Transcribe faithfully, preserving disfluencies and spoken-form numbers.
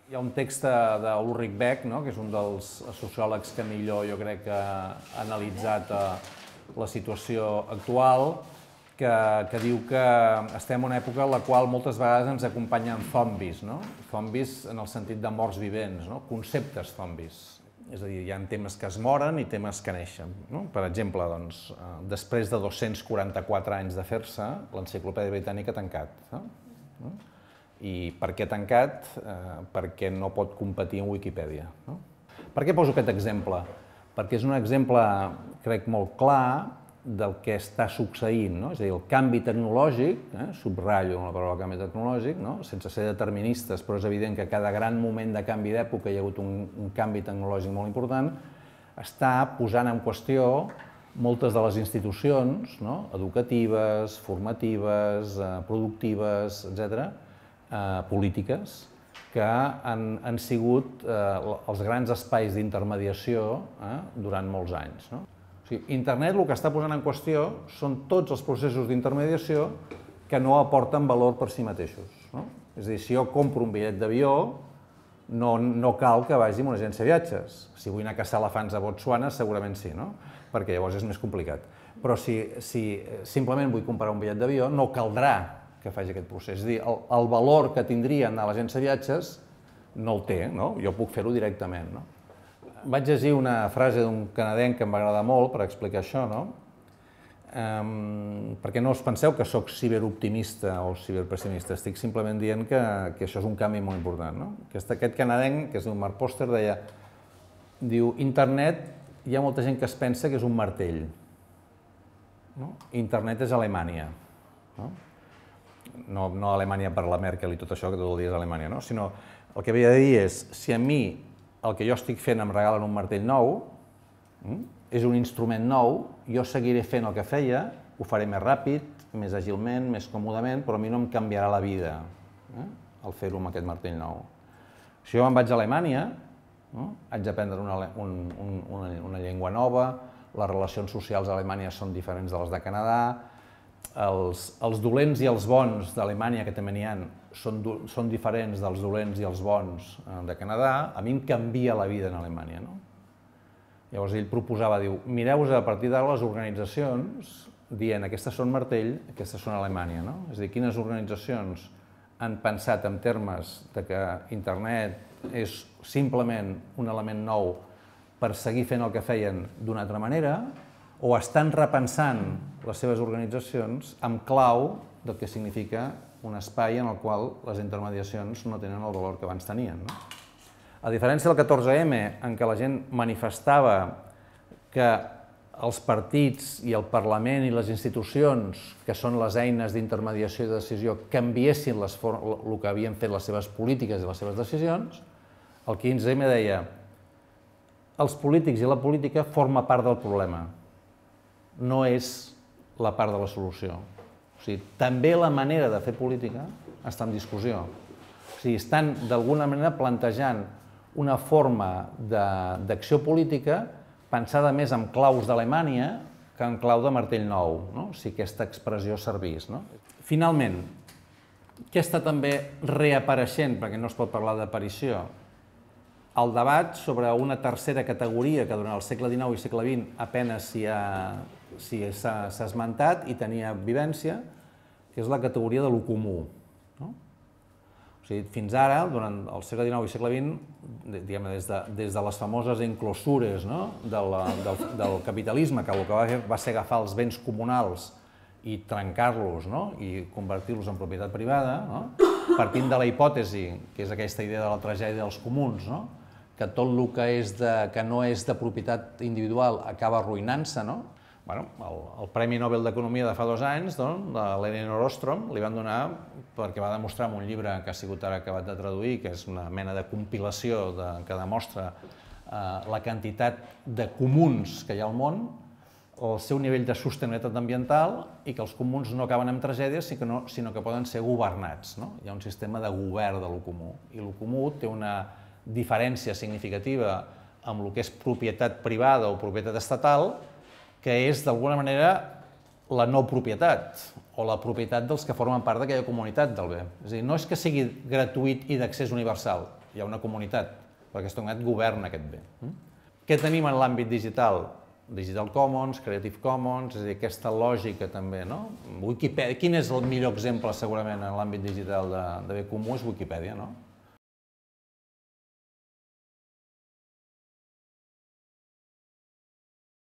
Hi ha un text d'Ulrich Beck, no?, que és un dels sociòlegs que millor, jo crec, que ha analitzat la situació actual, que, que diu que estem en una època en la qual moltes vegades ens acompanyen zombis, no? Zombis en el sentit de morts vivents, no? Conceptes zombis. És a dir, hi ha temes que es moren i temes que neixen, no? Per exemple, doncs, després de dos-cents quaranta-quatre anys de fer-se, l'Enciclopèdia Britànica ha tancat. No? I per què tancat? Eh, perquè no pot competir amb Wikipedia. No? Per què poso aquest exemple? Perquè és un exemple, crec, molt clar del que està succeint, no? És a dir, el canvi tecnològic, eh, subratllo la paraula canvi tecnològic, no? Sense ser deterministes, però és evident que a cada gran moment de canvi d'època hi ha hagut un, un canvi tecnològic molt important, està posant en qüestió moltes de les institucions, no? Educatives, formatives, eh, productives, etcètera, eh, polítiques, que han, han sigut eh, els grans espais d'intermediació eh, durant molts anys. No? O sigui, Internet el que està posant en qüestió són tots els processos d'intermediació que no aporten valor per si mateixos. No? És a dir, si jo compro un bitllet d'avió, no, no cal que vagi amb una agència de viatges. Si vull anar a caçar elefants a Botswana, segurament sí, no? Perquè llavors és més complicat. Però si, si simplement vull comprar un bitllet d'avió, no caldrà que faci aquest procés. És a dir, el, el valor que tindria anar a l'agència de viatges no el té, no? Jo puc fer-ho directament. No? Vaig llegir una frase d'un canadenc que em va agradar molt per explicar això, no? Um, perquè no us penseu que sóc ciberoptimista o ciberpessimista, estic simplement dient que, que això és un canvi molt important. No? Aquest, aquest canadenc, que és un Mark Poster, deia, diu, Internet, hi ha molta gent que es pensa que és un martell. No? Internet és Alemanya. No? No, no Alemanya per la Merkel i tot això, que tot el dia és Alemanya, no? Sinó el que havia de dir és, si a mi el que jo estic fent em regalen un martell nou, és un instrument nou, jo seguiré fent el que feia, ho faré més ràpid, més àgilment, més còmodament, però a mi no em canviarà la vida eh? el fer-ho amb aquest martell nou. Si jo me'n vaig a Alemanya, no? haig d'aprendre una, un, un, una, una llengua nova, les relacions socials a Alemanya són diferents de les de Canadà, els, els dolents i els bons d'Alemanya, que també n'hi ha, són, són diferents dels dolents i els bons de Canadà, a mi em canvia la vida en Alemanya. No? Llavors ell proposava, diu, mireu-vos a partir d'ara les organitzacions dient aquestes són martell, aquestes són Alemanya. No? És a dir, quines organitzacions han pensat en termes de que internet és simplement un element nou per seguir fent el que feien d'una altra manera, o estan repensant les seves organitzacions amb clau del que significa un espai en el qual les intermediacions no tenen el valor que abans tenien. No? A diferència del catorze eme, en què la gent manifestava que els partits i el Parlament i les institucions, que són les eines d'intermediació i de decisió, canviessin les el que havien fet les seves polítiques i les seves decisions, el quinze eme deia els polítics i la política formen part del problema, no és la part de la solució. O sigui, també la manera de fer política està en discussió. O sigui, estan d'alguna manera plantejant una forma d'acció política pensada més en claus d'Alemanya que en clau de martell nou, no? Si aquesta expressió servís. No? Finalment, què està també reapareixent, perquè no es pot parlar d'aparició? El debat sobre una tercera categoria que durant el segle dinou i segle vint apenas s'hi ha, s'hi s'ha esmentat i tenia vivència, que és la categoria de lo comú. No? O sigui, fins ara, durant el segle dinou i segle vint, diguem, des, de, des de les famoses enclosures, no? del, del, del capitalisme, que el que va fer va ser agafar els béns comunals i trencar-los, no? I convertir-los en propietat privada, no? Partint de la hipòtesi, que és aquesta idea de la tragèdia dels comuns, no? Que tot el que, és de, que no és de propietat individual acaba arruïnant-se. No? Bueno, el, el Premi Nobel d'Economia de fa dos anys, doncs, de l'Elinor Ostrom, li van donar perquè va demostrar en un llibre que ha sigut ara acabat de traduir, que és una mena de compilació de, que demostra eh, la quantitat de comuns que hi ha al món, el seu nivell de sostenibilitat ambiental i que els comuns no acaben amb tragèdies, sinó, sinó que poden ser governats. No? Hi ha un sistema de govern de lo comú. I lo comú té una diferència significativa amb el que és propietat privada o propietat estatal, que és, d'alguna manera, la no propietat, o la propietat dels que formen part d'aquella comunitat del bé. És a dir, no és que sigui gratuït i d'accés universal, hi ha una comunitat, perquè aquesta comunitat governa aquest bé. Què tenim en l'àmbit digital? Digital Commons, Creative Commons, és a dir, aquesta lògica també, no? Wikipedia, quin és el millor exemple segurament en l'àmbit digital de bé comú? És Wikipedia, no?